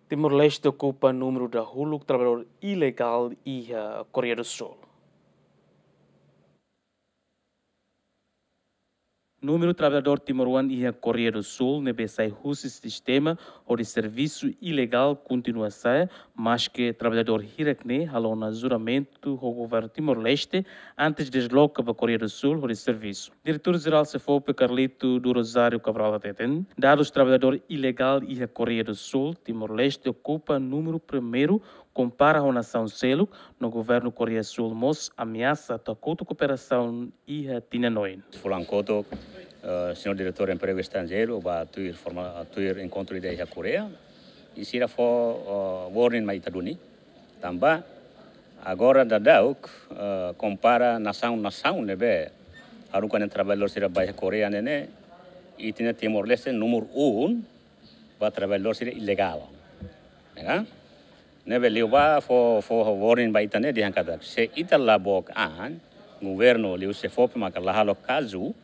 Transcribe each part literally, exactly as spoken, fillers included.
Timor-Leste okupa númeru dahuluk traballadór ilegál iha Koreia do Súl. Númeru traballadór timoroan iha Koreia do Súl ne'ebé sai husi sistema hodi servisu ilegál kontinua sa'e, maske traballadór hirak-ne'e halo ona juramentu ho governu Timor-Leste antes desloka ba Koreia do Súl hodi servisu. Diretór Jerál SEFOPE Carlito do Rosário Cabral hateten, dadus traballadór ilegál iha Koreia do Súl, Timor-Leste okupa númeru primeiru kompara ho nasaun seluk, no governu Koreia Súl mós ameasa atu hakotu kooperasaun iha tinan oin. Fulan kotuk, eh, señór Diretór Empregu Estranjeiru ba tuir forma, tuir enkontru ida iha Koreia, i sira fó, eh, warning mai ita duni. Tanba agora daudauk, eh, kompara nasaun-nasaun ne'ebé haruka nia traballadór sira ba iha Koreia ne'e, ita-nia Timor-Leste númeru un ba traballadór sira ilegál. Ya kan? Ne'ebé liubá fó, fó warning ba ita ne'e dehan katak se ita la book an, governu liu SEFOPE maka la halo kazu,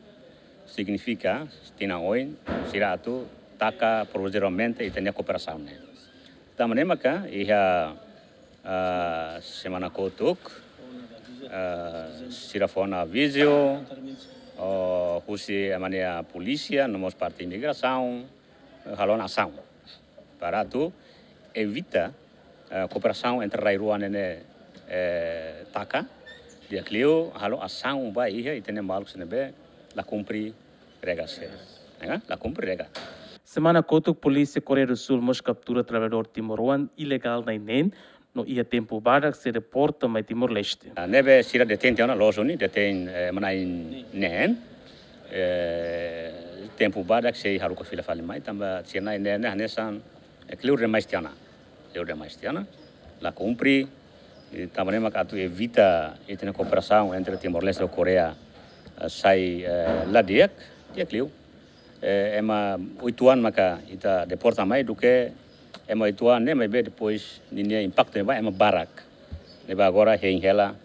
signifika tinan oin sira atu taka provizoriamente ita-nia kooperasaun ne'e. Tanba ne'e maka iha, ah, semana kotuk, ah, sira fó ona avizu, oh, husi ema nia polísia, no mós parte imigrasaun, eh, halo ona asaun para atu evita, eh, kooperasaun entre rai rua ne'e, eh, taka, di'ak liu halo asaun ba iha ita-nia maluk sira ne'ebé la kumpre regra sira. Ya kan? La kumpre regra. Semana kotuk polísia Koreia do Súl mós kaptura traballadór timoroan ilegál na'in neen, no iha tempu badak sei deporta mai Timor-Leste. Ah, ne'ebé sira detein tiha ona, loos duni, detein, eh, ema na'in neen. Eh, tempu badak sei haruka fila fali mai, tanba sira na'in neen ne'e hanesan, eh, kleur demais tiha ona. Kleur demais tiha ona. La kumpre, i tanba ne'e maka atu evita ita-nia kooperasaun entre Timor-Leste ho Koreia, eh, sai, eh, la di'ak, di'ak liu. Eh, ema oituan maka ita deporta mai duké ema oituan ne'e, maibé depois ninia impaktu ne'ebá ema barak. Ne'ebé agora hein hela,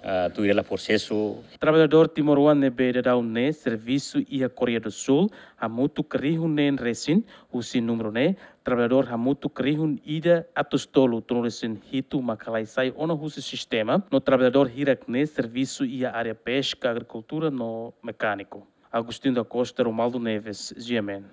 ah, tuir hela prosesu. Traballadór timoroan ne'ebé daudaun ne'e servisu iha Koreia do Súl hamutuk rihun neen resin, husi númeru ne'e traballadór hamutuk rihun ida atus tolu tolu resin hitu maka la'e sai ona husi sistema, no traballadór hirak-ne'e servisu iha área peska, agrikultura no mekániku. Agostinho da Costa, Romualdo Neves, G M N.